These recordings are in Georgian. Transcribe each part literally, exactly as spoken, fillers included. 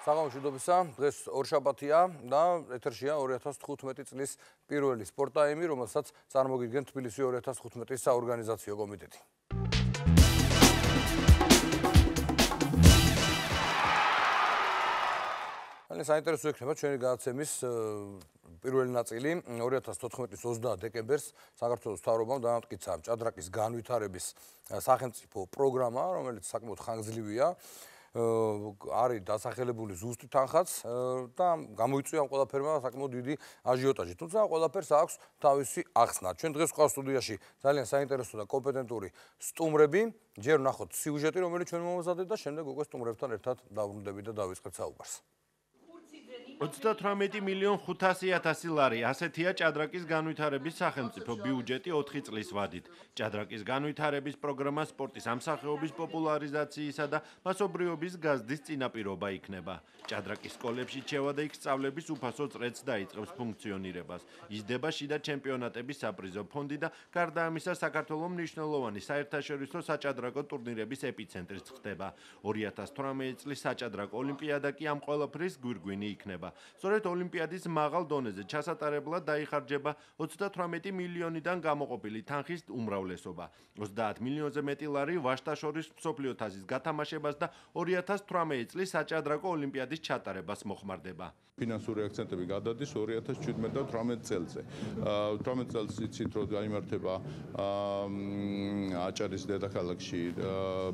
საღამოშიდობისა, დღეს ორშაბათია და ეთერშია ორი ათას თხუთმეტი წლის პირველი სპორტაიმი, რომელსაც წარმოგიდგენთ თბილისი ორი ათას თხუთმეტის საორგანიზაციო კომიტეტი. საინტერესო იქნება ჩვენი გადაცემის პირველი ნაწილი ორი ათას თოთხმეტის ოცდაათ დეკემბერს საქართველოს მთავრობამ დამტკიცა ჭადრაკის განვითარების სახელმწიფო პროგრამა, რომელიც საკმაოდ ხანგრძლივია. არის დასახელებული ზუსტი თანხაც და გამოიწვია ამ ყველაფერმა საკმაოდ დიდი აჟიოტაჟი. თუმცა ყველაფერს აქვს თავისი ახსნა. ჩვენ დღეს ყავს სტუდიაში ძალიან საინტერესო და კომპეტენტური სტუმრები. ჯერ ვნახოთ სიუჟეტი, რომელიც ჩვენ მომზადეთ და შემდეგ უკვე სტუმრებთან ერთად დავრუნდებით და დავიწყებთ საუბარს. ოცდათვრამეტი მილიონ ხუთასი ათასი ლარი ასეთია ჭადრაკის განვითარების სახელმწიფო ბიუჯეტი ოთხი წლის ვადით. ჭადრაკის განვითარების პროგრამა სპორტის ამსახეობის პოპულარიზაციისა და მასობრიობის გაზრდის წინაპირობა იქნება. ჭადრაკის სკოლებში რჩევა და იქ სწავლების უფასო წრეც დაიწყებს ფუნქციონირებას. იზრდება შიდა ჩემპიონატების საპრიზო ფონდი და გარდა ამისა საქართველოს მნიშვნელოვანი საერთაშორისო საჭადრაკო ტურნირების ეპიცენტრიც ხდება. ორი ათას თვრამეტი წლის საჭადრაკო ოლიმპიადა კი ამ ყველაფრის გვირგვინი იქნება. სწორედ ოლიმპიადის მაღალ დონეზე ჩასატარებლად დაიხარჯება ოცდათვრამეტი მილიონიდან გამოყოფილი თანხის უმრავლესობა. ოცდაათ მილიონზე მეტი ლარი ვაჟთა-შორის მსოფლიო თასის გათამაშებას და ორი ათას თვრამეტი წლის საჭადრაკო ოლიმპიადის ჩატარებას მოხმარდება. ფინანსური აქცენტები გადადის ორი ათას შვიდმეტ და თვრამეტ წელზე. თვრამეტ წელს იცით, რომ გაიმართება აჭარის დედაქალაქში,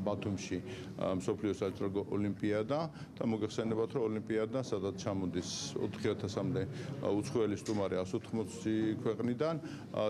ბათუმში მსოფლიო საჭადრაკო ოლიმპიადა და მოგეხსენებათ, რომ ოლიმპიადა სადაც ჩამოდის ოთხი ათასამდე უცხოელი სტუმარი εκατს ოთხმოცი ქვეყნიდან.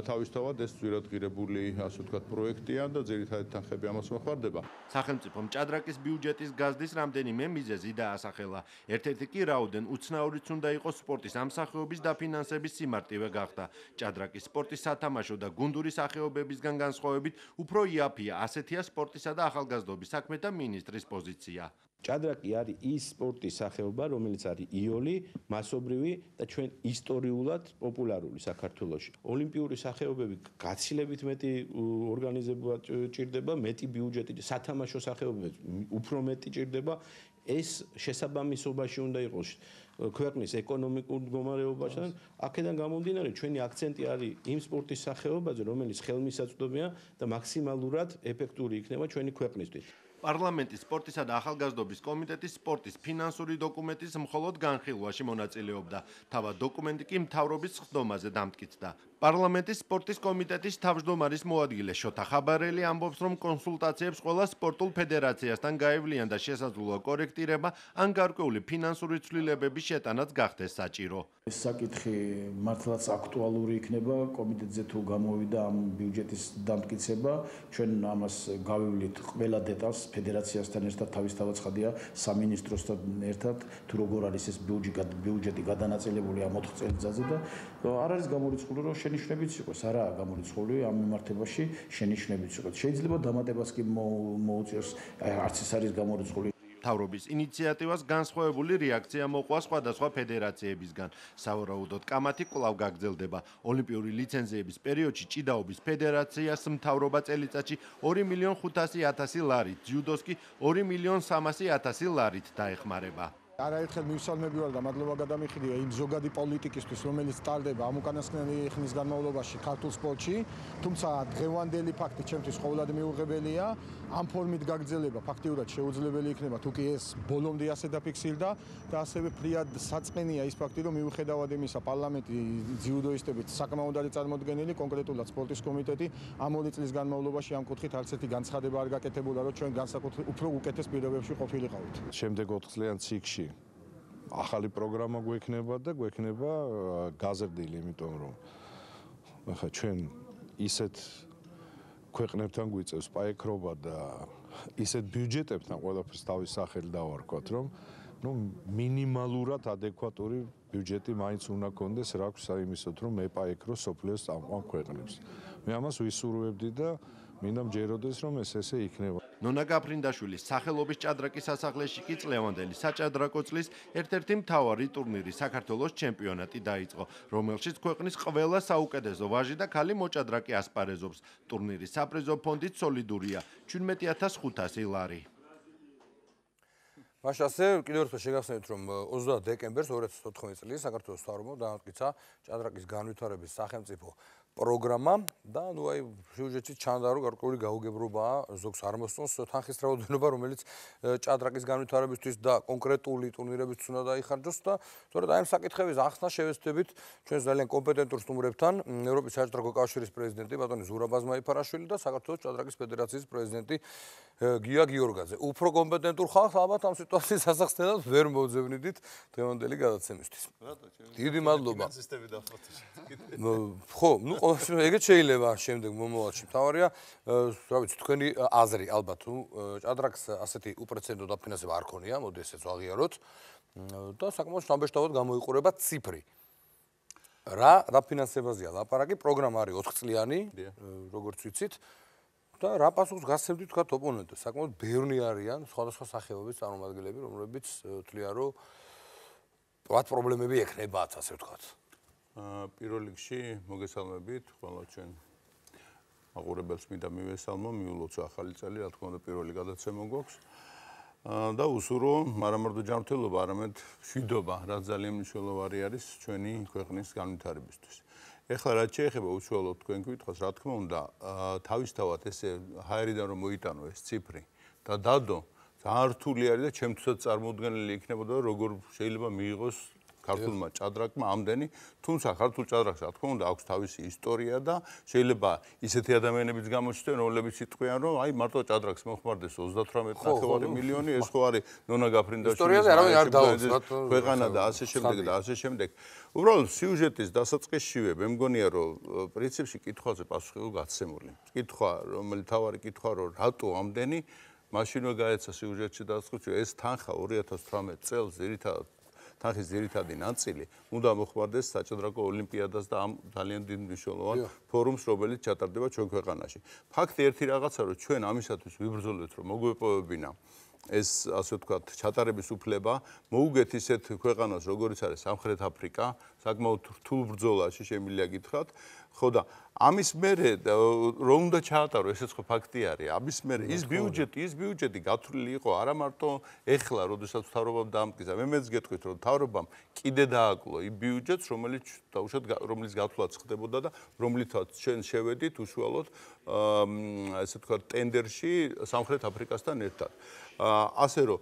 თავისთავად ეს ძვირადღირებული, ასე ვთქვათ, პროექტია და ძირითადი თანხები ამას მოხმარდება. სახელმწიფომ ჭადრაკის ბიუჯეტის გაზრდის რამდენიმე მიზეზი დაასახელა. ერთ-ერთი კი რაოდენ უცნაურიც უნდა იყოს სპორტის ამსახეობის დაფინანსების სიმარტივე გახდა. ჭადრაკის სპორტის სათამაშო და გუნდური სახეობებისგან განსხვავებით უფრო იაფია ასეთია სპორტისა და ახალგაზრდობის საქმეთა მინისტრის პოზიცია. ჭადრაკი არის ის სპორტის სახეობა, რომელიც არის იოლი, მასობრივი და ჩვენ ისტორიულად პოპულარული საქართველოში. ოლიმპიური სახეობები გაცილებით მეტი ორგანიზება ჭირდება, მეტი ბიუჯეტი, სათამაშო სახეობები უფრო მეტი ჭირდება. ეს შესაბამისობაში უნდა იყოს ქვეყნის ეკონომიკურ მდგომარეობასთან. აქედან გამომდინარე, ჩვენი აქცენტი არის იმ სპორტის სახეობაზე, რომელიც ხელმისაწვდომია და მაქსიმალურად ეფექტური იქნება ჩვენი ქვეყნისთვის. პარლამენტის სპორტისა და ახალგაზრდობის კომიტეტის სპორტის ფინანსური დოკუმენტის მხოლოდ განხილვაში მონაწილეობდა. თავად დოკუმენტი კი მთავრობის ხდომაზე დამტკიცდა. პარლამენტის სპორტის კომიტეტის თავმჯდომარის მოადგილე შოთა ხაბარელი ამბობს, რომ კონსულტაციებს ყველა სპორტულ ფედერაციასთან გაევლიან და შესაძლოა კორექტირება ან გარკვეული ფინანსური ცვლილებების შეტანაც გახდეს საჭირო. ეს საკითხი მართლაც აქტუალური იქნება კომიტეტზე თუ გამოვიდა ამ ბიუჯეტის დამტკიცება. ჩვენ ამას გავივლით ყველა დეტალს ფედერაციასთან ერთად, თავისთავად ცხადია სამინისტროსთან ერთად, თუ როგორ არის ეს ბიუჯეტი გადანაწილებული ამ ოთხ წელიწადზე და არ არის გამორიცხული, რომ შენიშვნებიც იყოს, არაა გამორიცხული ამ მიმართებაში შენიშვნებიც იყოს. შეიძლება დამატებას კი მოუწიოს, არც ეს არის გამორიცხული. მთავრობის ინიციატივას განსხვავებული რეაქცია მოყვა სხვადასხვა ფედერაციებისგან. სავარაუდოდ კამათი კვლავ გაგრძელდება. ოლიმპიური ლიცენზიების პერიოდში ჭიდაობის ფედერაციას მთავრობა წელიწადში ორი მილიონ ხუთასი ათასი ლარით, ძიუდოს კი ორი მილიონ სამასი ათასი ლარით დაეხმარება. არაერთხელ მივსალმები ვარ და მადლობა გადამიხდია იმ ზოგადი პოლიტიკისთვის, რომელიც ტარდება ამ უკანასკნელი ხნის განმავლობაში ქართულ სპორტში, თუმცა დღევანდელი ფაქტი ჩემთვის ყოველად მიუღებელია. ამ ფორმით გაგრძელება ფაქტიურად შეუძლებელი იქნება, თუ კი ეს ბოლომდე ასე დაფიქსირდა და ასევე ფრიად საწყენია ის ფაქტი, რომ მიუხედავად იმისა, პარლამენტი ძიუდოისტებით საკმაოდ არის წარმოდგენილი, კონკრეტულად სპორტის კომიტეტი ამ ორი წლის განმავლობაში ამ კუთხით არც ერთი განცხადება არ გაკეთებულა, რომ ჩვენ განსაკუთრებით უფრო უკეთეს პირობებში ყოფილიყავით. შემდეგ ოთხ წლიან ციკლში ახალი პროგრამა გვექნება და გვექნება გაზრდილი, იმიტომ რომ ახლა ჩვენ ისეთ ქვეყნებთან გვიწევს პაექრობა და ისეთ ბიუჯეტებთან ყველაფერს თავის სახელი დავარქვათ, რომ ну მინიმალურად ადეკვატური ბიუჯეტი მაინც უნდა კონდეს რა აქვს საიმისოდ, რომ ეპაექრო სოფლიოს წამყვან ქვეყნებს. მე ამას ვისურვებდი და მინდა მჯეროდეს, რომ ეს ესე იქნება. ნონა გაფრინდაშვილის სახელობის ჭადრაკის სასახლეში კი წლევანდელი საჭადრაკო წლის ერთ-ერთი მთავარი ტურნირი საქართველოს ჩემპიონატი დაიწყო, რომელშიც ქვეყნის ყველა საუკეთესო ვაჟი და ქალი მოჭადრაკე ასპარეზობს. ტურნირის საპრიზო ფონდით სოლიდურია შვიდმეტი ათას ხუთასი ლარი. მაშინ ასე კიდევ ერთხელ შეგახსენებთ, რომ ოცდაათ დეკემბერს ორი ათას ოთხმოცდაათი წლის საქართველოს მთავრობამ დაამტკიცა ჭადრაკის განვითარების სახელმწიფო პროგრამა და ნუ აი სიუჟეტში ჩანდა რომ გარკვეული გაუგებრობაა ზოგს არ მოსწონს თანხის რაოდენობა რომელიც ჭადრაკის განვითარებისთვის და კონკრეტული ტურნირებისთვის უნდა დაიხარჯოს და სწორედ აი ამ საკითხების ახსნა შევეცდებით ჩვენს ძალიან კომპეტენტურ სტუმრებთან ევროპის საჭადრაკო კავშირის პრეზიდენტი ბატონი ზურაბ აზმაიფარაშვილი და საქართველოს ჭადრაკის ფედერაციის პრეზიდენტი გია გიორგაძე. უფრო კომპეტენტურ ხალხს ალბათ ამ სიტუაციის ასახსნელად ვერ მოძებნიდით დღევანდელი გადაცემისთვის. დიდი მადლობა. ხო, ნუ ეგეც შეიძლება შემდეგ მომავალში. თავარია, რა ვიცი, თქვენი აზრი ალბათ თუ ჭადრაკს ასეთი უპრეცედენტო დაფინანსება არ ქონია, მოდი ესეც ვაღიაროთ და საკმაოდ შთამბეჭდავად გამოიყურება ციფრი. რა დაფინანსებაზეა ლაპარაკი, პროგრამა არის ოთხ წლიანი, როგორც ვიცით. და რა პასუხს გასცემთ თქვა ოპონენტებს? საკმაოდ ბევრი არიან სხვადასხვა სახეობის წარმომადგენლები, რომლებიც თვლიან, რომ პლატ პრობლემები ექნებათ, ასე ვთქვათ. აა პირველ რიგში მოგესალმებით, ყველა ჩვენ აყურებელს მინდა მივესალმო, მიულოცო ახალი წელი, რა თქმა უნდა, პირველი გადაცემა გვაქვს. აა და უსურო, არამარტო ჯანმრთელობა, არამედ მშვიდობა, რაც ძალიან მნიშვნელოვანი არის ჩვენი ქვეყნის განვითარებისთვის. ეხლა რაც შეეხება უშუალოდ თქვენ კითხვას, რა თქმა უნდა, თავისთავად ესე ჰაერიდან რომ მოიტანო ეს ციფრი და დადო, ძალიან რთული არის და ჩემთვისაც წარმოუდგენელი იქნებოდა, როგორ შეიძლება მიიღოს ქართულმა ჭადრაკმა ამდენი, თუმცა ქართულ ჭადრაკს, რა თქმა უნდა, აქვს თავისი ისტორია და შეიძლება ისეთი ადამიანებიც გამოჩნდნენ, რომლებიც იტყვიან, რომ აი მარტო ჭადრაკს მოხმარდეს ოცდათვრამეტი ნახევარი მილიონი, ეს ხო არის ნონა გაფრინდაშვილის ქვეყანა და ასე შემდეგ და ასე შემდეგ. უბრალოდ სიუჟეტის დასაწყისშივე მე მგონია, რომ პრინციპში კითხვაზე პასუხი იყო გაცემული. კითხვა, რომელიც თავარი კითხვა, რომ რატო ამდენი, მაშინვე გაეცა სიუჟეტში დასაწყისში, ეს თანხა ორი ათას თვრამეტი წელს ძირითადად თანხის ძირითადი ნაწილი უნდა მოხმარდეს საჭადრაკო ოლიმპიადას და ამ ძალიან დიდ მნიშვნელოვან ფორუმს, რომელიც ჩატარდება ჩვენ ქვეყანაში. ფაქტი ერთი რაღაცა, რომ ჩვენ ამისათვის ვიბრძოლებთ, რომ მოგვეპოვებინა ეს ასე ვთქვათ, ჩატარების უფლება, მოუგეთ ისეთ ქვეყანას, როგორიც არის სამხრეთ აფრიკა, საკმაოდ რთულ ბრძოლაში შემიძლია გითხრათ. ხო და ამის მერე რომ უნდა ჩაატარო, ესეც ხო ფაქტი არის. ამის მერე ის ბიუჯეტი, ის ბიუჯეტი გათვლილი იყო არა მარტო ეხლა, როდესაც მთავრობამ დაამტკიცა. მე მეც გეტყვით, რომ მთავრობამ კიდე დააკლო იმ ბიუჯეტს, რომელიც დაუშვათ რომლის გათვლაც ხდებოდა და რომლითაც ჩვენ შევედით უშუალოდ ესე ვთქვათ, ტენდერში სამხრეთ აფრიკასთან ერთად. ასე რომ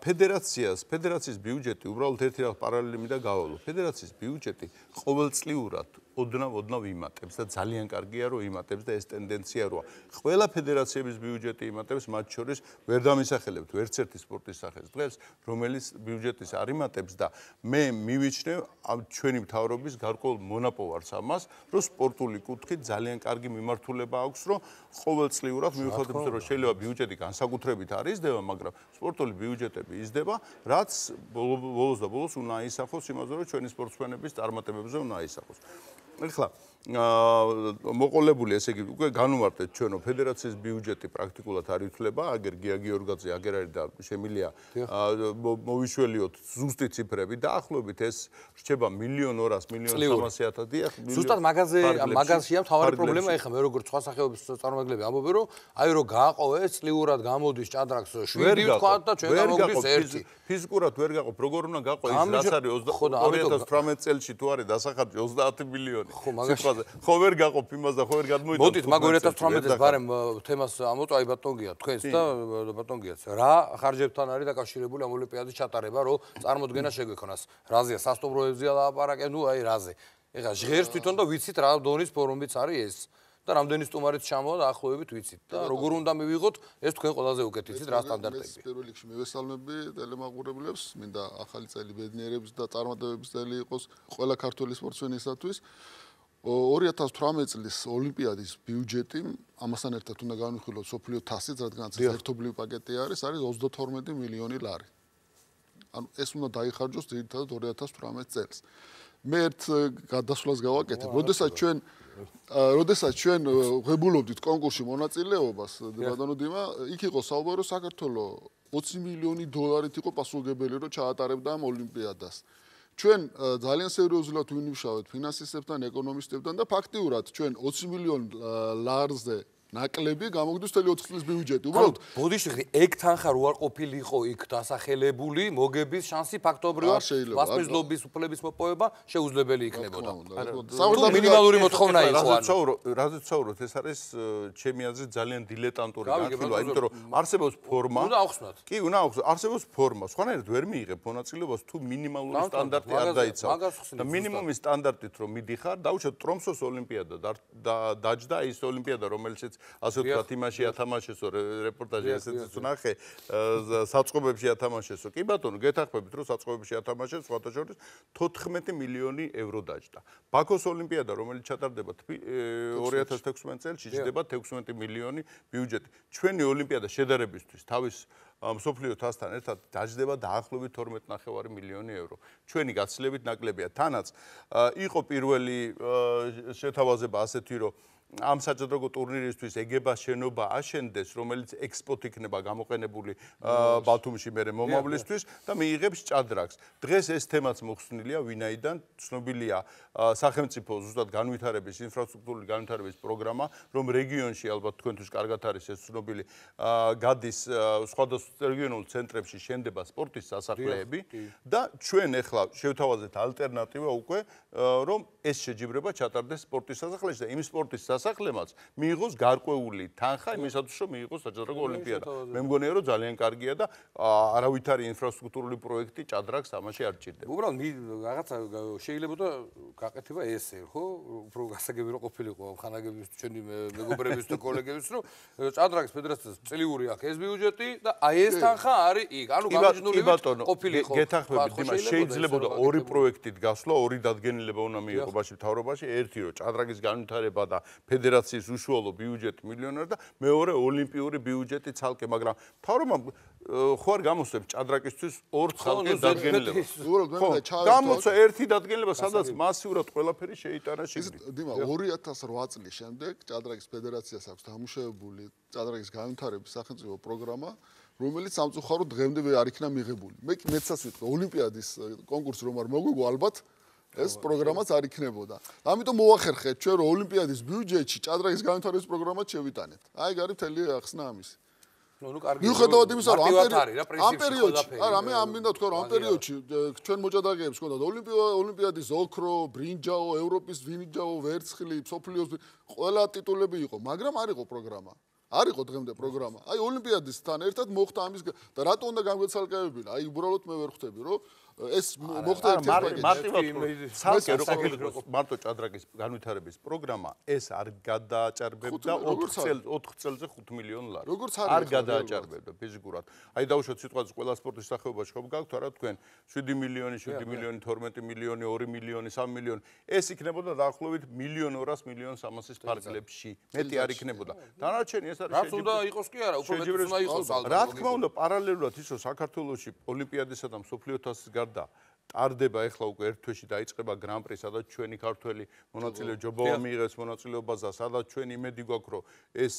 ფედერაციას, ფედერაციის ბიუჯეტი უბრალოდ ერთი რაღაც პარალელი მინდა გავალო. ფედერაციის ბიუჯეტი ყოველწლიურად ოდნავ ოდნავ იმატებს და ძალიან კარგია რომ იმატებს და ეს ტენდენცია როა. ყველა ფედერაციების ბიუჯეტი იმატებს, მათ შორის ვერ დამისახელებთ ვერც ერთი სპორტის სახეს დღეს, რომელიც ბიუჯეტის არ იმატებს და მე მივიჩნევ ჩვენი მთავრობის გარკვეულ მონაპოვარს ამას, რომ სპორტული კუთხით ძალიან კარგი მიმართულება აქვს, რომ ყოველწლიურად მიუხედავად რომ შეიძლება ბიუჯეტი განსაკუთრებით არ იზრდება, მაგრამ სპორტული ბიუჯეტები იზრდება, რაც ბოლოს და ბოლოს უნდა აისახოს იმაზე, რომ ჩვენი სპორტსმენების წარმატებებზე უნდა აისახოს. ეხლა მოყოლებული ესე იგი უკვე განვარტეთ ჩვენო ფედერაციის ბიუჯეტი პრაქტიკულად არ ითვლება, აგერ გია გიორგაძე, აგერ არის და შემილია მოვიშველიოთ ზუსტი ციფრები და ახლობით ეს რჩება მილიონ ორას, მილიონ სამასი ათასი. ზუსტად მაგაზე მაგაზია მთავარი პრობლემა ეხლა მე როგორც სხვა სახეობის წარმომადგენლები ამბობენ, რომ აი რომ გააყოვე წლიურად გამოდის ჭადრაკს შვიდი თქვა და ჩვენ გამოგდის ერთი. ფიზიკურად ვერ გაყო, როგორ უნდა გაყო ის რაც არის ორი ათას თვრამეტი წელში თუ არის დასახარჯი ოცდაათი მილიონი. ხო ვერ გაყოფ იმას და ხო ვერ გადმოიტანთ. მოდით მაგ ორი ათას თვრამეტის ბარემ თემას ამოწვა აი ბატონგია თქვენს და ბატონგიაც. რა ხარჯებთან არის დაკავშირებული ამ ოლიმპიადის ჩატარება, რომ წარმოდგენა შეგვექონას. რაზეა სასტუმროებზეა ლაპარაკი, ნუ აი რაზე. ეხლა ჟღერს თვითონ და ვიცით რა დონის ფორუმიც არის ეს. და რამდენი სტუმარიც ჩამოვა და ახლოვებით ვიცით და როგორ უნდა მივიღოთ ეს თქვენ ყველაზე უკეთ იცით რა სტანდარტები. მე პირველ რიგში მივესალმები ტელემაყურებლებს, მინდა ახალი წელი ბედნიერების და წარმატებების წელი იყოს ყველა ქართველი სპორტსმენისათვის. ორი ათას თვრამეტი წლის ოლიმპიადის ბიუჯეტი ამასთან ერთად უნდა განვიხილოთ სოფლიო თასიც, რადგანაც ერთობლივი პაკეტი არის, არის ოცდათორმეტი მილიონი ლარი. ანუ ეს უნდა დაიხარჯოს ძირითადად ორი ათას თვრამეტი წელს. მე ერთ გადასვლას გავაკეთებ, როდესაც ჩვენ როდესაც ჩვენ ღებულობდით კონკურსში მონაწილეობას, ბატონო დიმა, იქ იყო საუბარი, საქართველოს ოცი მილიონი დოლარით იყო პასუხობელი, რომ ჩაატარებდა ამ ოლიმპიადას. ჩვენ ძალიან სერიოზულად ვიმუშავეთ ფინანსისტებთან, ეკონომისტებთან და ფაქტიურად ჩვენ ოცი მილიონ ლარზე ნაკლები გამოგვდის მთელი ოთხ წლის ბიუჯეტი. უბრალოდ ბოდიში ეგ თანხა რო არ ყოფილიყო იქ დასახელებული, მოგების შანსი ფაქტობრივად ვასპიზლობის უფლების მოპოვება შეუძლებელი იქნებოდა. საერთოდ მინიმალური მოთხოვნა იყო. რაზეც საუბრობთ, ეს არის ჩემი აზრით ძალიან დილეტანტური განხილვა, იმიტომ რომ არსებობს ფორმა. უნდა ახსნათ. კი, უნდა ახსნათ. არსებობს ფორმა. სხვანაირად ვერ მიიღებ მონაწილეობას თუ მინიმალური სტანდარტი არ დაიცავ. და მინიმუმის სტანდარტით რომ მიდიხარ, დაუშვათ ტრომსოს ოლიმპიადა დაჯდა ის ოლიმპიადა, რომელშიც ასე ვთქვათ, იმაში ათამაშესო რეპორტაჟი ესეც ვნახე, საწყობებში ათამაშესო. კი ბატონო, გეთახმებით რომ საწყობებში ათამაშეს, სხვათა შორის თოთხმეტი მილიონი ევრო დაჯდა. ბაქოს ოლიმპიადა, რომელიც ჩატარდება ორი ათას თექვსმეტ წელს, ჯდება თექვსმეტი მილიონი ბიუჯეტი. ჩვენი ოლიმპიადა შედარებისთვის თავის მსოფლიო თასთან ერთად დაჯდება დაახლოებით თორმეტი ნახევარი მილიონი ევრო. ჩვენი გაცილებით ნაკლებია. თანაც იყო პირველი შეთავაზება ასეთი, რომ ამ საჭადრაკო ტურნირისთვის ეგება შენობა აშენდეს, რომელიც ექსპოთ იქნება გამოყენებული ბათუმში მერე მომავლისთვის და მიიღებს ჭადრაკს. დღეს ეს თემაც მოხსნილია, ვინაიდან ცნობილია სახელმწიფო ზუსტად განვითარების, ინფრასტრუქტურული განვითარების პროგრამა, რომ რეგიონში ალბათ თქვენთვის კარგად არის ეს ცნობილი, გადის სხვადასხვა რეგიონულ ცენტრებში შენდება სპორტის სასახლეები და ჩვენ ახლა შევთავაზეთ ალტერნატივა უკვე, რომ ეს შეჯიბრება ჩატარდეს სპორტის სასახლეში და იმ სპორტის სასახლემაც მიიღოს გარკვეული თანხა იმისათვის, რომ მიიღოს საჭადრაკო ოლიმპიადა. მე მგონია, რომ ძალიან კარგია და არავითარი ინფრასტრუქტურული პროექტი ჭადრაკს ამაში არ ჭირდება. უბრალოდ რაღაცა შეიძლებოდა გაკეთება ესე, ხო? უფრო გასაგები რო ყოფილიყო ხანაგების ჩვენი მეგობრების და კოლეგების, რომ ჭადრაკის ფედერაციას წლიური აქვს ეს ბიუჯეტი და აი ეს თანხა არის იქ. ანუ გამიჯნული ყოფილიყო. გეთახმებით, იმას შეიძლებოდა ორი პროექტით გასვლა, ორი დადგენილება უნდა მიიღო ბაში მთავრობაში, ერთი რომ ჭადრაკის განვითარება და ფედერაციის უშუალო ბიუჯეტი მილიონერი და მეორე ოლიმპიური ბიუჯეტი ცალკე, მაგრამ მთავრობამ ხო არ გამოსცემს ჭადრაკისთვის ორ ცალკე დადგენილებას. ხო, გამოსცა ერთი დადგენილება, სადაც მასიურად ყველაფერი შეიტანა შიგნით. დიმა, ორი ათას რვა წლის შემდეგ ჭადრაკის ფედერაციას აქვს დამუშავებული ჭადრაკის განვითარების სახელმწიფო პროგრამა, რომელიც სამწუხაროდ დღემდე არ იქნა მიღებული. მე მეცას ვიტყვი, ოლიმპიადის კონკურსი რომ არ მოგვიგო, ალბათ ეს პროგრამაც არ იქნებოდა. ამიტომ მოახერხეთ ჩვენ რომ ოლიმპიადის ბიუჯეტში ჭადრაკის განვითარების პროგრამაც შევიტანეთ. აი გარი მთელი ახსნა ამისი. ნუ ნუ კარგი. მიუხედავად იმისა, რომ ამ პერიოდში, არა, მე ამ მინდა თქვა, რომ ამ პერიოდში ჩვენ მოჭადრაკეებს ჰქონდათ ოლიმპიადის ოქრო, ბრინჯაო, ევროპის ბრინჯაო, ვერცხლი, მსოფლიოს ყველა ტიტულები იყო, მაგრამ არ იყო პროგრამა. არ იყო დღემდე პროგრამა. აი ოლიმპიადისთან ერთად მოხდა ამის და რატო უნდა გამგვეცალკევებინა? აი უბრალოდ მე ვერ ხვდები, რომ ეს მოხდა ერთ-ერთი მარტივად მარტო ჭადრაკის განვითარების პროგრამა ეს არ გადააჭარბებდა ოთხ წელზე ხუთ მილიონ ლარი. არ გადააჭარბებდა ფიზიკურად. აი დავუშვათ სიტყვაზე ყველა სპორტის სახეობაში ხომ გაქვთ არა თქვენ შვიდი მილიონი, შვიდი მილიონი, თორმეტი მილიონი, ორი მილიონი, სამი მილიონი. ეს იქნებოდა დაახლოებით მილიონ ორას მილიონ სამასის ფარგლებში. მეტი არ იქნებოდა. დანარჩენი ეს არის რაც უნდა იყოს კი არა, უფრო მეტი უნდა იყოს ალბათ. რა თქმა უნდა, პარალელურად ის რომ საქართველოში ოლიმპიადისა და მსოფლიო თასის გარდა ტარდება ახლა უკვე ერთ თვეში დაიწყება გრან-პრი, სადაც ჩვენი ქართველი მონაწილე ჯობავა მიიღებს მონაწილეობას და სადაც ჩვენი იმედი გვაქვს, რომ ეს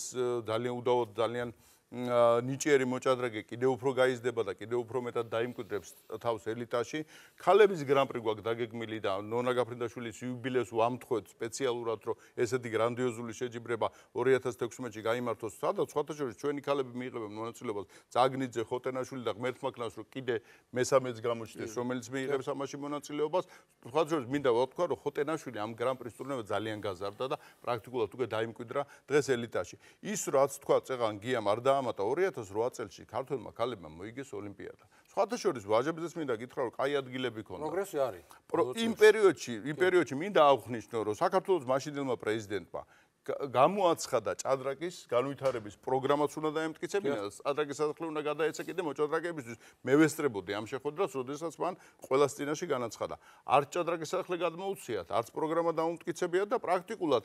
ძალიან უდავოდ ძალიან ნიჭიერი მოჭადრაკე კიდევ უფრო გაიზრდება და კიდევ უფრო მეტად დაიმკვიდრებს თავს ელიტაში. ქალების გრან-პრი გვაქვს დაგეგმილი და ნონა გაფრინდაშვილის იუბილეოს ვამთხოვთ სპეციალურად, რომ ესეთი გრანდიოზული შეჯიბრება ორი ათას თექვსმეტში გაიმართოს, სადაც სხვათა შორის ჩვენი ქალები მიიღებენ მონაწილეობას. ზაგნიძე, ხოტენაშვილი და ღმერთმაქნას, რომ კიდე მესამეც გამოჩნდეს, რომელიც მიიღებს ამაში მონაწილეობას. სხვათა შორის მინდა ვთქვა, რომ ხოტენაშვილი ამ გრან-პრის ტურნირზე ძალიან გაზარდა და პრაქტიკულად უკვე დაიმკვიდრა დღეს ელიტაში. ის რაც თქვა წეღან გიამ არ და ამათა ორი ათას რვა წელში ქართველმა ქალებმა მოიგეს ოლიმპიადა. სხვათა შორის ვაჟებზეც მინდა გითხრა, რომ კაი ადგილები ქონდა. პროგრესი არის. იმ პერიოდში, იმ პერიოდში მინდა აღვნიშნო, რომ საქართველოს მაშინდელმა პრეზიდენტმა გამოაცხადა ჭადრაკის განვითარების პროგრამაც უნდა დაემტკიცებინა, ჭადრაკის სასახლე უნდა გადაეცა კიდე მოჭადრაკეებისთვის. მე ვესწრებოდი ამ შეხვედრას, როდესაც მან ყველას წინაშე განაცხადა. არც ჭადრაკის სასახლე გადმოუციათ, არც პროგრამა დაუმტკიცებიათ და პრაქტიკულად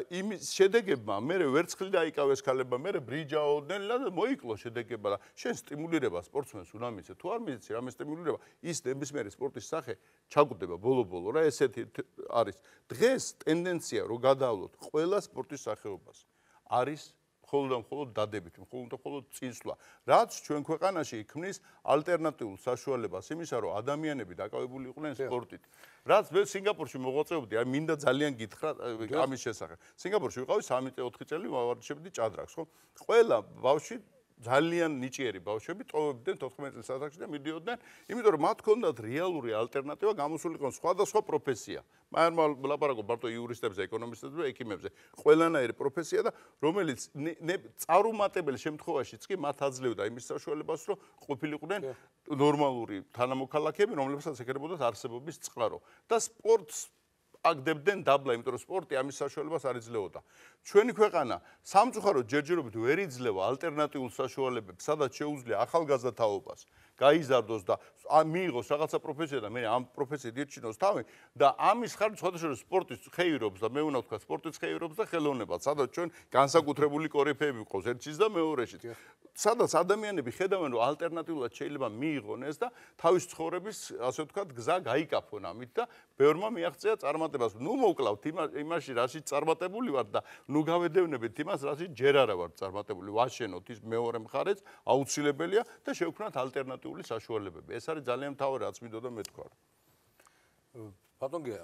იმის შედეგებმა მე ვერცხლი დაიკავეს ქალებმა, მე ბრინჯაოდნელა და მოიკლო შედეგება და შენ სტიმულირება სპორტსმენს უნდა მიცე. თუ არ მიცე, რამე სტიმულირება, ის ნებისმიერი სპორტის სახე ჩაგუდება ბოლო-ბოლო რა ესეთი არის. დღეს ტენდენცია რომ გადავლოთ ყველა სპორტის სახეობას არის მხოლოდ და მხოლოდ დადებით, მხოლოდ და მხოლოდ წინსვლა. რაც ჩვენ ქვეყანაში ქმნის ალტერნატიულ საშუალებას იმისა, რომ ადამიანები დაკავებული იყვნენ სპორტით. რაც მე სინგაპურში მოღვაწეობდი, აი მინდა ძალიან გითხრა ამის შესახებ. სინგაპურში ვიყავი სამი ოთხი წელი ვავარჯიშებდი ჭადრაკს, ხო? ყველა ბავშვი ძალიან ნიჭიერი ბავშვები ტოვებდნენ თოთხმეტ წლის ასაკში და მიდიოდნენ, იმიტომ რომ მათ ჰქონდათ რეალური ალტერნატივა გამოსულიყო სხვადასხვა პროფესია. მაგრამ ლაპარაკობ მარტო იურისტებზე, ეკონომისტებზე და ექიმებზე. ყველანაირი პროფესია და რომელიც წარუმატებელი შემთხვევაშიც კი მათ აძლევდა იმის საშუალებას, რომ ყოფილიყვნენ ნორმალური თანამოქალაქეები, რომლებსაც ეკრებოდათ არსებობის წყარო. და სპორტს აგდებდნენ დაბლა, იმიტომ რომ სპორტი ამის საშუალებას არ იძლეოდა. ჩვენი ქვეყანა სამწუხაროდ ჯერჯერობით ვერ იძლევა ალტერნატიულ საშუალებებს, სადაც შეუძლია ახალგაზრდა თაობას გაიზარდოს და მიიღოს რაღაცა პროფესია და მე ამ პროფესიით ირჩინოს თავი და ამის ხარჯ სხვადასხვა სპორტის ხეირობს და მე უნდა ვთქვა სპორტის ხეირობს და ხელოვნებას, სადაც ჩვენ განსაკუთრებული კორიფეები ვყავს ერთშიც და მეორეშიც. სადაც ადამიანები ხედავენ რომ ალტერნატიულად შეიძლება მიიღონ ეს და თავის ცხოვრების ასე ვთქვათ გზა გაიკაფონ ამით და ბევრმა მიაღწია წარმატებას. ნუ მოკლავთ იმაში რაშიც წარმატებული ვარ და ნუ გავედევნებით იმას რაშიც ჯერ არა ვარ წარმატებული. ვაშენოთ ის მეორე მხარეც აუცილებელია და შევქმნათ ალტერნატიული საშუალებები. ეს არის ძალიან მთავარი რაც მინდოდა მეთქვა. ბატონ გია,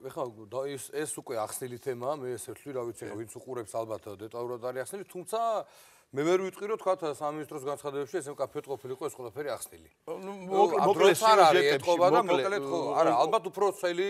ეხლა ეს ეს უკვე ახსნილი თემაა, მე ესე ვთვლი, რა ვიცი, ვინც უყურებს ალბათ დეტალურად არის ახსნილი, თუმცა მე ვერ ვიტყვი რომ თქვა სამინისტროს განცხადებებში ესე მკაფიოდ ყოფილიყო ეს ყველაფერი ახსნილი. მოკლედ სიუჟეტებში და მოკლედ ხო, არა, ალბათ უფრო წელი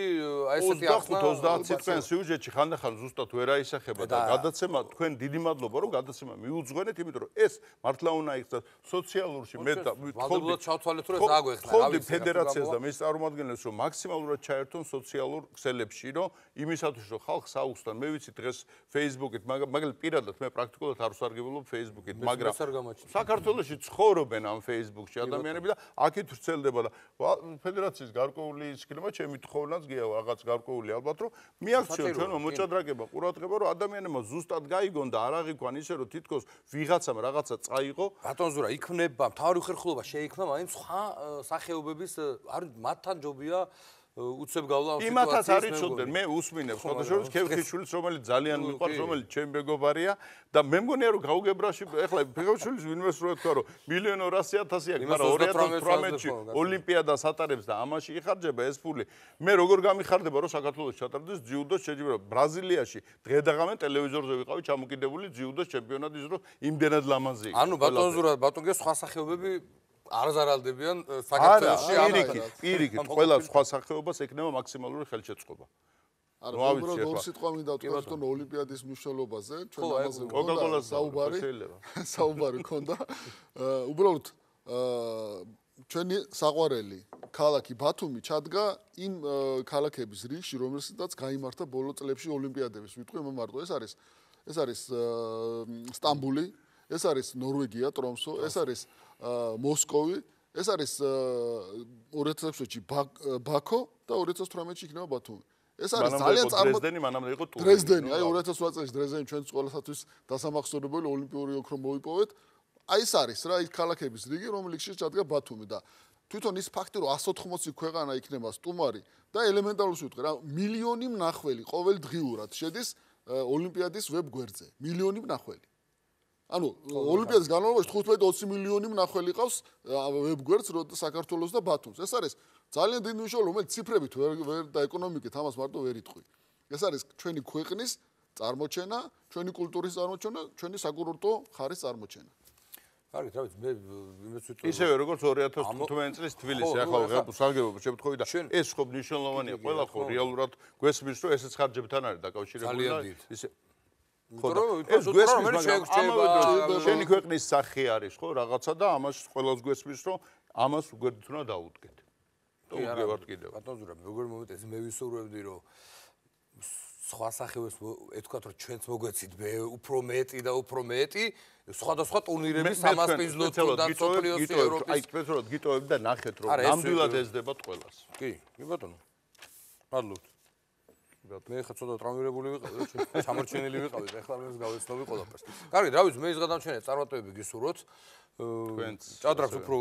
აი ესეთი ახსნა ოცდაათი წელი სიუჟეტში ხანდახან ზუსტად ვერ აისახება და გადაცემა თქვენ დიდი მადლობა რომ გადაცემა მიუძღვენეთ, იმიტომ რომ ეს მართლა უნდა იქცეს სოციალურში მე და ვალდებულად ჩავთვალეთ რომ ეს აგვეხსნა. ხოდი ფედერაციას და მის წარმომადგენლებს რომ მაქსიმალურად ჩაერთონ სოციალურ ქსელებში, რომ იმისათვის რომ ხალხს აუხსნან, მე ვიცი დღეს Facebook-ით, მაგალითად პირადად მე პრაქტიკულად არ ვსარგებლობ Facebook-ით, მაგრამ საქართველოში ცხოვრობენ ამ Facebook-ში ადამიანები და აქეთ ვრცელდება და ფედერაციის გარკვეული ისქნება, ჩემი თხოვნაც გია რაღაც გარკვეული ალბათ რომ მიაქციონ ჩვენო მოჭადრაკება, ყურადღება რომ ადამიანებმა ზუსტად გაიგონ და არ აღიქვან ისე რომ თითქოს ვიღაცამ რაღაცა წაიღო. ბატონ ზურა, იქნება მთავარი უხერხულობა შეიქმნა მაინც სხვა სახეობების არის მათთან ჯობია უცებ გავლა ამ სიტუაციას. იმათაც არ იცოდნენ, მე უსმინებს, ხოდაშორის ქევხიშვილის, რომელიც ძალიან მიყვარს, რომელიც ჩემი მეგობარია და მე მგონია რომ გაუგებრაში ეხლა ქევხიშვილის ვინმეს რო ეთქვა რომ მილიონ ორასი ათასი აქვს, მაგრამ ორი ათას თვრამეტში ოლიმპიადას ატარებს და ამაში იხარჯება ეს ფული. მე როგორ გამიხარდება რომ საქართველოს ჩატარდეს ჯიუდოს შეჯიბება. ბრაზილიაში დღე და ღამე ტელევიზორზე ვიყავი ჩამოკიდებული ჯიუდოს ჩემპიონატის დრო იმდენად ლამაზი. ანუ ბატონ ზურა, ბატონ გე სხვა სახეობები არ ზარალდებიან საქართველოში ამერიკით, პირიქით, ყველა სხვა სახეობას ექნება მაქსიმალური ხელშეწყობა. არა, უბრალოდ ორ სიტყვა მინდა ვთქვა თვითონ ოლიმპიადის მნიშვნელობაზე, ჩვენ ამაზე კოკაკოლა საუბარი, საუბარი ქონდა. უბრალოდ ჩვენი საყვარელი ქალაქი ბათუმი ჩადგა იმ ქალაქების რიგში, რომელსაც გაიმართა ბოლო წლებში ოლიმპიადების. ვიტყვი მომარტო, ეს არის ეს არის სტამბული, ეს არის ნორვეგია, ტრომსო, ეს არის მოსკოვი, ეს არის ორი ათას ექვსში ბაქო და ორი ათას თვრამეტში იქნება ბათუმი. ეს არის ძალიან წარმო დრეზდენი, მანამდე იყო ტურინი. დრეზდენი, აი ორი ათას ოთხ წელს დრეზდენი ჩვენს ყველასათვის დასამახსოვრებელი ოლიმპიური ოქრო მოვიპოვეთ. აი ეს არის რა, ის ქალაქების რიგი, რომელშიც ჩადგა ბათუმი და თვითონ ის ფაქტი, რომ εκατს ოთხმოცი ქვეყანა იქნება სტუმარი და ელემენტარულად ვიტყვი რა, მილიონი მნახველი ყოველდღიურად შედის ოლიმპიადის ვებგვერდზე. მილიონი მნახველი. ანუ ოლიმპიადის განმავლობაში თხუთმეტი ოცი მილიონი მნახველი ყავს ვებგვერდს საქართველოს და ბათუმს. ეს არის ძალიან დიდი მნიშვნელობა, რომელიც ციფრებით ვერ და ეკონომიკით ამას მარტო ვერ იტყვი. ეს არის ჩვენი ქვეყნის წარმოჩენა, ჩვენი კულტურის წარმოჩენა, ჩვენი საკურორტო ხარის წარმოჩენა. კარგი, რა ვიცი, მე იმეც ვიტყვი. ისევე როგორც ორი ათას თხუთმეტი წლის თბილისი, ახლა სარგებლობა შემთხვევით და ეს ხო მნიშვნელოვანია, ყველა ხო რეალურად გვესმის, რომ ესეც ხარჯებთან არის დაკავშირებული და ისე ეს გვესმის, მაგრამ შენი ქვეყნის სახე არის ხო რაღაცა და ამას ყველას გვესმის, რომ ამას უგვერდით უნდა დაუდგეთ. და უდგევართ კიდევ. ბატონ ზურა, როგორ მომიტეს, მე ვისურვებდი, რომ სხვა სახეებს ეთქვათ, რომ ჩვენც მოგვეცით უფრო მეტი და უფრო მეტი, სხვადასხვა ტურნირების სამასპინძლო და სოფლიოს ევროპის. აი, სპეციალურად გიტოვებ და ნახეთ, რომ ნამდვილად ესდებათ ყველას. კი, კი ბატონო. მადლობთ. მე ხა ცოტა ტრამვირებული ვიყავი და ჩამორჩენილი ვიყავი და ეხლა მე გავეცნობი ყველაფერს. კარგი, რა ვიცი, მე ის გადამჩენია წარმატებები გისურვოთ. ჭადრაკს უფრო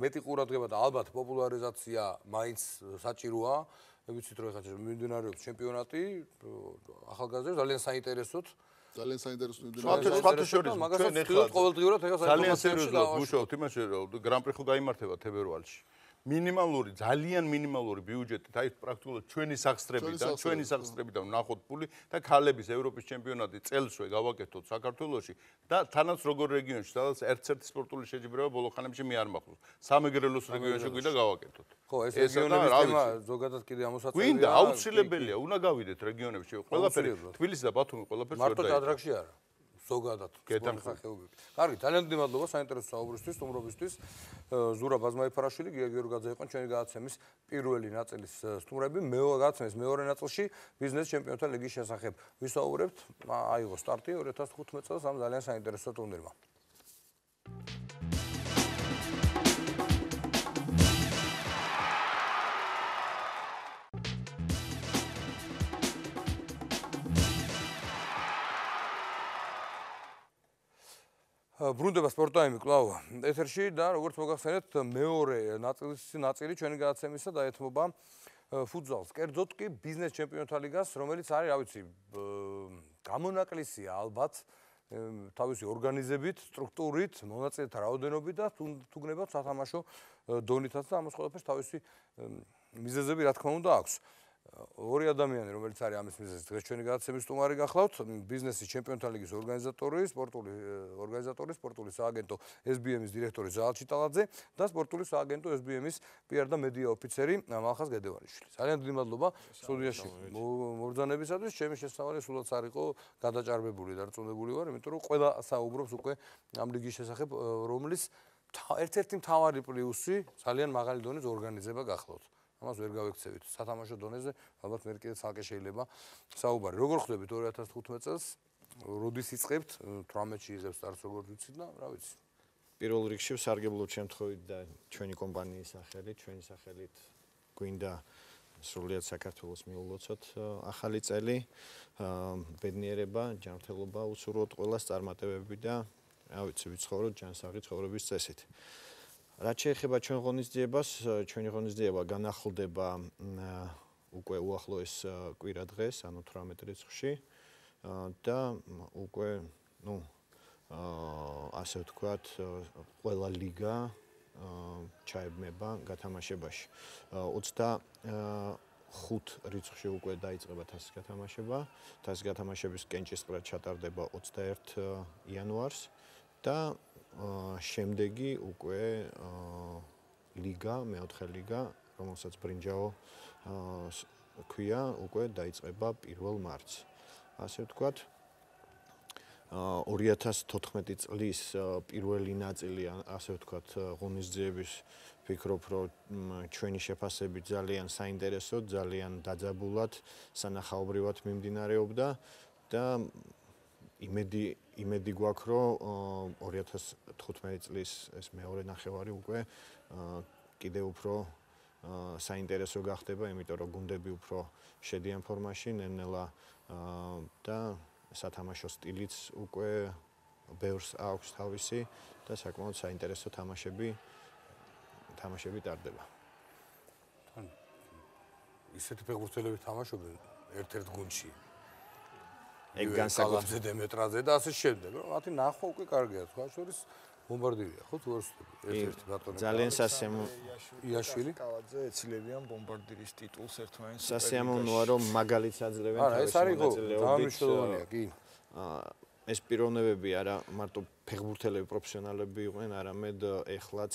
მეტი ყურადღება და ალბათ პოპულარიზაცია მაინც საჭიროა. მე ვიცით რომ ეხლა მიმდინარეობს ჩემპიონატი ახალგაზრდებს ძალიან საინტერესოდ ძალიან საინტერესო საერთაშორისო ჩვენ ეხლა ყოველდღიურად ეხლა ძალიან სერიოზულად ვუშაობთ იმაში რომ გრან-პრი ხო გაიმართება თებერვალში მინიმალური ძალიან მინიმალური ბიუჯეტით აი პრაქტიკულად ჩვენი სახსრებიდან ჩვენი სახსრებიდან ვნახოთ ფული და ქალების ევროპის ჩემპიონატი წელსვე გავაკეთოთ საქართველოში და თანაც როგორ რეგიონში სადაც ერთ-ერთი სპორტული შეჯიბრება ბოლო ხანებში მე არ მახსოვს სამეგრელოს რეგიონში გვინდა გავაკეთოთ ხო ეს რეგიონების თემა ზოგადად კიდე ამოსაწევია გვინდა აუცილებელია უნდა გავიდეთ რეგიონებში ყველაფერი თბილისი და ბათუმი ყველაფერს ვერ მარტო ჭადრაკში არა ზოგადად სპორტსახეობები. კარგი, ძალიან დიდი მადლობა საინტერესო საუბრისთვის, სტუმრობისთვის. ზურაბ აზმაიფარაშვილი, გია გიორგაძე იყო ჩვენი გადაცემის პირველი ნაწილის სტუმრები. მეორე გადაცემის მეორე ნაწილში ბიზნეს ჩემპიონთა ლიგის შესახებ ვისაუბრებთ. აიღო სტარტი ორი ათას თხუთმეტ წელს ამ ძალიან საინტერესო ტურნირმა. ბრუნდება სპორტაიმი კვლავ ეთერში და როგორც მოგახსენეთ მეორე ნაწილის ნაწილი ჩვენი გადაცემისა დაეთმობა ფუტზალს. კერძოდ კი ბიზნეს ჩემპიონთა ლიგას, რომელიც არის, რა ვიცი, გამონაკლისია ალბათ თავისი ორგანიზებით, სტრუქტურით, მონაწილეთა რაოდენობით და თუ გნებავთ სათამაშო დონითაც და ამას ყველაფერს თავისი მიზეზები რა თქმა უნდა აქვს. ორი ადამიანი, რომელიც არის ამის მიზეზი, დღეს ჩვენი გადაცემის სტუმარი გახლავთ, ბიზნესის ჩემპიონთა ლიგის ორგანიზატორი, სპორტული ორგანიზატორი, სპორტული სააგენტო ეს ბი ემის დირექტორი ზაალ ჩიტალაძე და სპორტული სააგენტო ეს ბი ემის პიარ და მედია ოფიცერი მალხაზ გედევანიშვილი. ძალიან დიდი მადლობა სტუდიაში მობრძანებისათვის. ჩემი შესწავალი სულაც არ იყო გადაჭარბებული და რწმუნებული ვარ, იმიტომ რომ ყველა საუბრობს უკვე ამ ლიგის შესახებ, რომლის ერთ-ერთი მთავარი პლუსი ძალიან მაღალი დონის ორგანიზება გახლავთ. ამას ვერ გავექცევით. სათამაშო დონეზე ალბათ მე კიდე ცალკე შეიძლება საუბარი. როგორ ხვდებით ორი ათას თხუთმეტ წელს? როდის იწყებთ? თვრამეტში იღებს სტარტს როგორც ვიცით და რა ვიცი. პირველ რიგში სარგებლობთ შემთხვევით და ჩვენი კომპანიის სახელით, ჩვენი სახელით გვინდა სრულიად საქართველოს მიულოცოთ ახალი წელი, ბედნიერება, ჯანმრთელობა უსურვოთ ყველას წარმატებები და რა ვიცი, ვიცხოვროთ ჯანსაღი ცხოვრების წესით. რაც შეეხება ჩვენ ღონისძიებას, ჩვენი ღონისძიება განახლდება უკვე უახლოეს კვირა დღეს, ანუ თვრამეტ რიცხვში და უკვე, ну, ასე ვთქვათ, ყველა ლიგა ჩაებმება გათამაშებაში. ოცდახუთ რიცხვში უკვე დაიწყება თასის გათამაშება, თასის გათამაშების კენჭისყრა ჩატარდება ოცდაერთი იანვარს და შემდეგი უკვე ლიგა, მეოთხე ლიგა, რომელსაც ბრინჯაო ქვია, უკვე დაიწყება პირველ მარტს. ასე ვთქვათ, ორი ათას თოთხმეტი წლის პირველი ნაწილი, ასე ვთქვათ, ღონისძიების ვფიქრობ, რომ ჩვენი შეფასებით ძალიან საინტერესო, ძალიან დაძაბულად, სანახაობრივად მიმდინარეობდა და იმედი იმედი გვაქვს, რომ ორი ათას თხუთმეტი წლის ეს მეორე ნახევარი უკვე კიდევ უფრო საინტერესო გახდება, იმიტომ რომ გუნდები უფრო შედიან ფორმაში, ნელ-ნელა და სათამაშო სტილიც უკვე ბევრს აქვს თავისი და საკმაოდ საინტერესო თამაშები თამაშები ტარდება. ისეთი ფეხბურთელები თამაშობენ ერთ-ერთ გუნდში. ეგ განსაკუთრებით დემეტრაძე და ასე შემდეგ. მათი ნახვა უკვე კარგია, თქვა შორის ბომბარდირია, ხო თუ არ ვსწრები. ერთ-ერთი ბატონი. ძალიან სასიამო იაშვილი. კალაძე ეცილებიან ბომბარდირის ტიტულს ერთმანეთს. სასიამოვნოა, რომ მაგალითს აძლევენ თავის მონაწილეობით. კი. ეს პიროვნებები არა მარტო ფეხბურთელები, პროფესიონალები იყვნენ, არამედ ეხლაც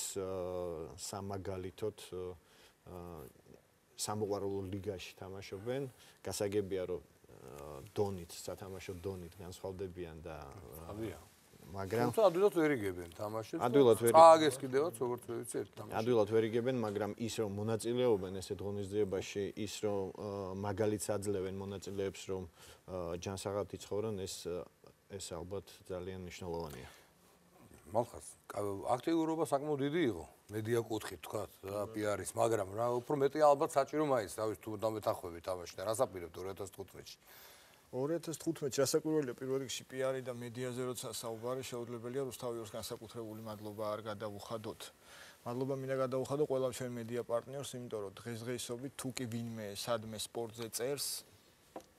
სამაგალითოდ სამოყვარულო ლიგაში თამაშობენ. გასაგებია, რომ დონით, სათამაშო დონით განსხვავდებიან და მაგრამ თუმცა ადვილად ვერ იგებენ თამაშებს. ადვილად ვერ წააგეს კიდევაც როგორც ვიცი ერთ თამაში. ადვილად ვერ იგებენ, მაგრამ ის რომ მონაწილეობენ ესეთ ღონისძიებაში, ის რომ მაგალითს აძლევენ მონაწილეებს, რომ ჯანსაღად იცხოვრონ, ეს ეს ალბათ ძალიან მნიშვნელოვანია. მალხაზ, აქტიურობა საკმაოდ დიდი იყო, მედია კუთხით თქვა და პიარის, მაგრამ რა უფრო მეტი ალბათ საჭირო მაინც, თავის თუ დამეთახვები თამაში და რას აპირებთ ორი ათას თხუთმეტში? ორი ათას თხუთმეტში რასაკვირველია პირველ რიგში პიარი და მედიაზე როცა საუბარი შეუძლებელია რუსთავიორს განსაკუთრებული მადლობა არ გადავუხადოთ. მადლობა მინდა გადავუხადო ყველა ჩვენ მედია პარტნიორს, იმიტომ რომ დღესდღეობით თუ კი ვინმე სადმე სპორტზე წერს,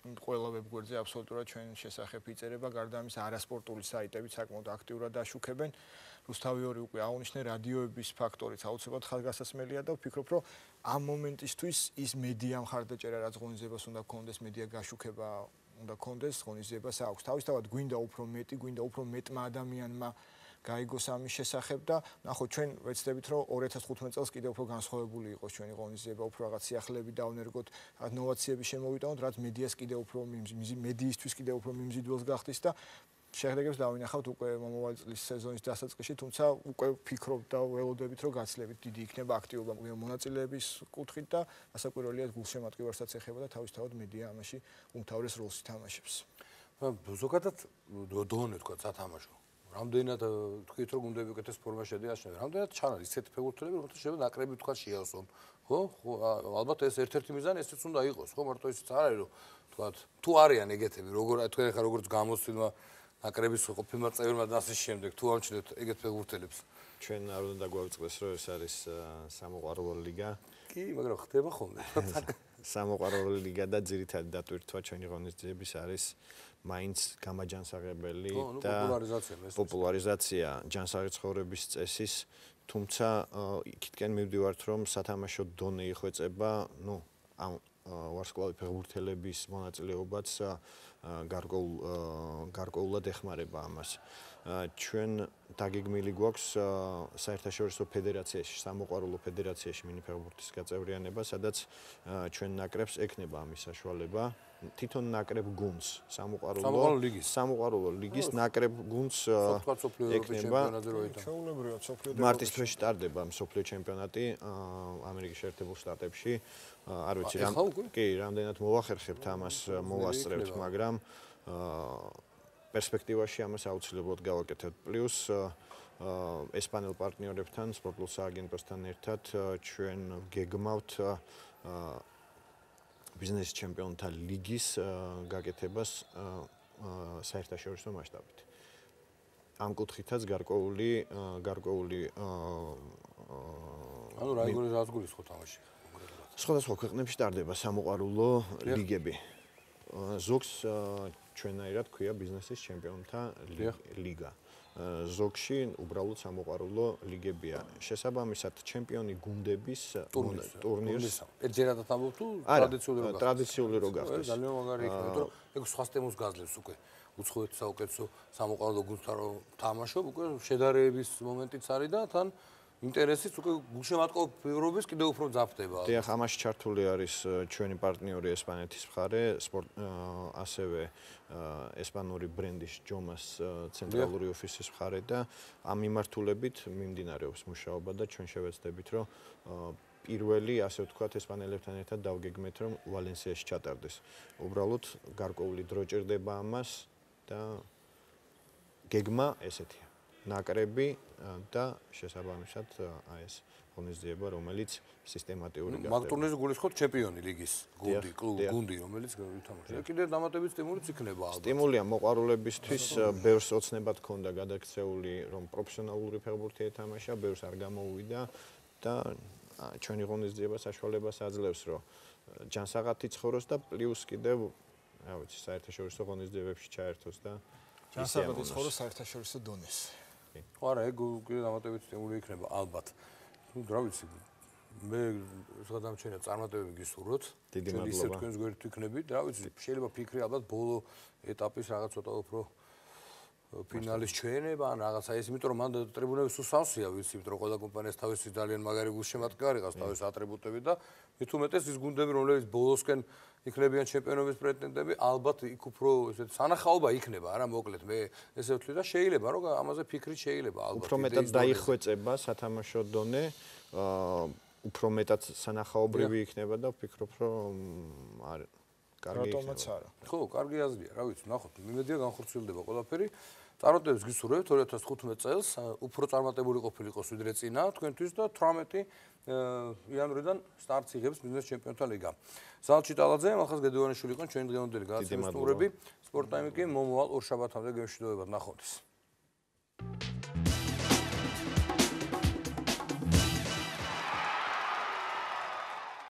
ყველა ვებგვერდზე აბსოლუტურად ჩვენ შესახებ იწერება, გარდა ამისა არასპორტული საიტებიც საკმაოდ აქტიურად აშუქებენ. რუსთავი ორი უკვე აუნიშნე რადიოების ფაქტორიც აუცილებლად ხალხგასასმელია და ვფიქრობ, რომ ამ მომენტისთვის ის მედია მხარდაჭერა რაც ღონისძიებას უნდა გქონდეს, მედია გაშუქება უნდა გქონდეს, ღონისძიებას აქვს. თავისთავად გვინდა უფრო მეტი, გვინდა უფრო მეტმა ადამიანმა გაიგოს ამის შესახებ და ნახოთ ჩვენ ვეცდებით რომ ორი ათას თხუთმეტ წელს კიდევ უფრო განსხვავებული იყოს ჩვენი ღონისძიება, უფრო რაღაც სიახლეები დავნერგოთ, რაღაც ნოვაციები შემოვიტანოთ, რაც მედიას კიდევ უფრო მედიისთვის კიდევ უფრო მიმზიდველს გახდის და შედეგებს დავინახავთ უკვე მომავალი წლის სეზონის დასაწყისში, თუმცა უკვე ვფიქრობ და ველოდებით რომ გაცილებით დიდი იქნება აქტიობა მონაწილეების კუთხით და ასაკვირველია გულშემატკივარსაც ეხება და თავისთავად მედია ამაში უმთავრეს როლს ითამაშებს. ზოგადად დონე თქვა სათამაშო. რამდენად თქვით რომ გუნდები უკეთეს ფორმაში შედგნენ, რამდენად ჩანან ისეთი ფეხბურთელები, რომელთა შეიძლება ნაკრები თქვა შეავსონ. ხო? ხო, ალბათ ეს ერთ-ერთი მიზანი ესეც უნდა იყოს, ხო, მარტო ისიც არ არის რომ თქვა თუ არიან ეგეთები, როგორ თქვენ ახლა როგორც გამოსცილმა ნაკრების ყოფილმა წევრმა და ასე შემდეგ, თუ ამჩნევთ ეგეთ ფეხბურთელებს. ჩვენ არ უნდა დაგვაუწყდეს რომ ეს არის სამოყვარულო ლიგა. კი, მაგრამ ხდება ხოლმე. სამოყვარულო ლიგა და ძირითადად დატვირთვა ჩვენი ღონისძიების არის მაინც გამაჯანსაღებელი და პოპულარიზაცია ჯანსაღი ცხოვრების წესის, თუმცა იქითკენ მივდივართ რომ სათამაშო დონე იხვეწება, ну, ამ ვარსკვლავი ფეხბურთელების მონაწილეობაც გარკვეულ გარკვეულად ეხმარება ამას. ჩვენ დაგეგმილი გვაქვს საერთაშორისო ფედერაციაში, სამოყვარულო ფედერაციაში მინიფეხბურთის გაწევრიანება, სადაც ჩვენ ნაკრებს ექნება ამის საშუალება. თვითონ ნაკრებ გუნდს, სამოყვარულო ლიგის, სამოყვარულო ლიგის ნაკრებ გუნდს ექნება. მარტის თვეში ტარდება მსოფლიო ჩემპიონატი ამერიკის შეერთებულ შტატებში. არ ვიცი რამ კი, რამდენად მოვახერხებთ ამას, მოვასწრებთ, მაგრამ პერსპექტივაში ამას აუცილებლად გავაკეთებთ. პლუს ესპანელ პარტნიორებთან, სპორტულ სააგენტოსთან ერთად ჩვენ გეგმავთ ბიზნეს ჩემპიონთა ლიგის გაკეთებას საერთაშორისო მასშტაბით. ამ კუთხითაც გარკვეული გარკვეული ანუ რა იგორი რაც გულისხმობ თამაში. სხვადასხვა ქვეყნებში ტარდება სამოყვარულო ლიგები. ზოგს ჩვენაირად ქვია ბიზნესის ჩემპიონთა ლიგა. ზოგში უბრალოდ სამოყვარულო ლიგებია. შესაბამისად ჩემპიონი გუნდების ტურნირს ერთჯერადად ამბობ თუ ტრადიციული რო გახდეს? ტრადიციული რო გახდეს. ძალიან მაგარი იქნება, იმიტომ რომ ეგ სხვა სტემოს გაძლევს უკვე. უცხოეთ საუკეთესო სამოყვარულო გუნდთან რო თამაშობ, უკვე შედარების მომენტიც არის და თან ინტერესიც უკვე გულშემატკივრობის კიდევ უფრო ძაფდება. დიახ, ამაში ჩართული არის ჩვენი პარტნიორი ესპანეთის მხარე, ასევე ესპანური ბრენდის ჯომას ცენტრალური ოფისის მხარე და ამ მიმართულებით მიმდინარეობს მუშაობა და ჩვენ შევეცდებით, რომ პირველი, ასე ვთქვათ, ესპანელებთან ერთად დავგეგმეთ, რომ ვალენსიაში ჩატარდეს. უბრალოდ გარკვეული დრო ჭირდება ამას და გეგმა ესეთია. ნაკრები და შესაბამისად აი ეს ღონისძიება, რომელიც სისტემატიური გახდება. მაგ ტურნირზე გულისხმობთ ჩემპიონი ლიგის გუნდი, კლუბი, გუნდი, რომელიც ვითამაშია. კიდე დამატებით სტიმულიც იქნება ალბათ. სტიმულია მოყვარულებისთვის ბევრს ოცნებად ჰქონდა გადაქცეული, რომ პროფესიონალური ფეხბურთი ეთამაშა, ბევრს არ გამოუვიდა და ჩვენი ღონისძიება საშუალებას აძლევს, რომ ჯანსაღად იცხოვროს და პლუს კიდევ, რა ვიცი, საერთაშორისო ღონისძიებებში ჩაერთოს და ჯანსაღად იცხოვროს საერთაშორისო დონეს. ხო არა, ეგ კიდე დამატებით სტიმული იქნება ალბათ. ნუ რა ვიცი, მე გადამჩენია წარმატებები გისურვოთ. დიდი მადლობა. ისე თქვენს გვერდით ვიქნებით. რა ვიცი, შეიძლება ფიქრი ალბათ ბოლო ეტაპის რაღაც ცოტა უფრო ფინალის ჩვენება ან რაღაცა ის, იმიტომ რომ მან ტრიბუნები სულ სამსია, ვიცი, იმიტომ რომ ყველა კომპანიას თავისი ძალიან მაგარი გულშემატკივარი ყავს, თავისი ატრიბუტები და მით უმეტეს ის გუნდები, რომლებიც ბოლოსკენ იქნებიან ჩემპიონობის პრეტენდენტები, ალბათ იქ უფრო ესეთ სანახაობა იქნება, არა მოკლედ მე ესე ვთვლი და შეიძლება რომ ამაზე ფიქრი შეიძლება ალბათ. უფრო მეტად დაიხვეწება სათამაშო დონე, უფრო მეტად სანახაობრივი იქნება და ვფიქრობ, რომ არ კარგი იქნება. ხო, კარგი აზრია, რა ვიცი, ნახოთ, იმედია განხორციელდება ყველაფერი. წარმატებებს გისურვებთ ორი ათას თხუთმეტ წელს, უფრო წარმატებული ყოფილიყოს ვიდრე წინა თქვენთვის და თვრამეტი იანვრიდან სტარტს იღებს ბიზნეს ჩემპიონთა ლიგა. ზალჩი ტალაძე, მალხაზ გედევანიშვილი იყო ჩვენი დღევანდელი გადაცემის სტუმრები. სპორტ ტაიმი კი მომავალ ორშაბათამდე გემშვიდობებად ნახვამდის.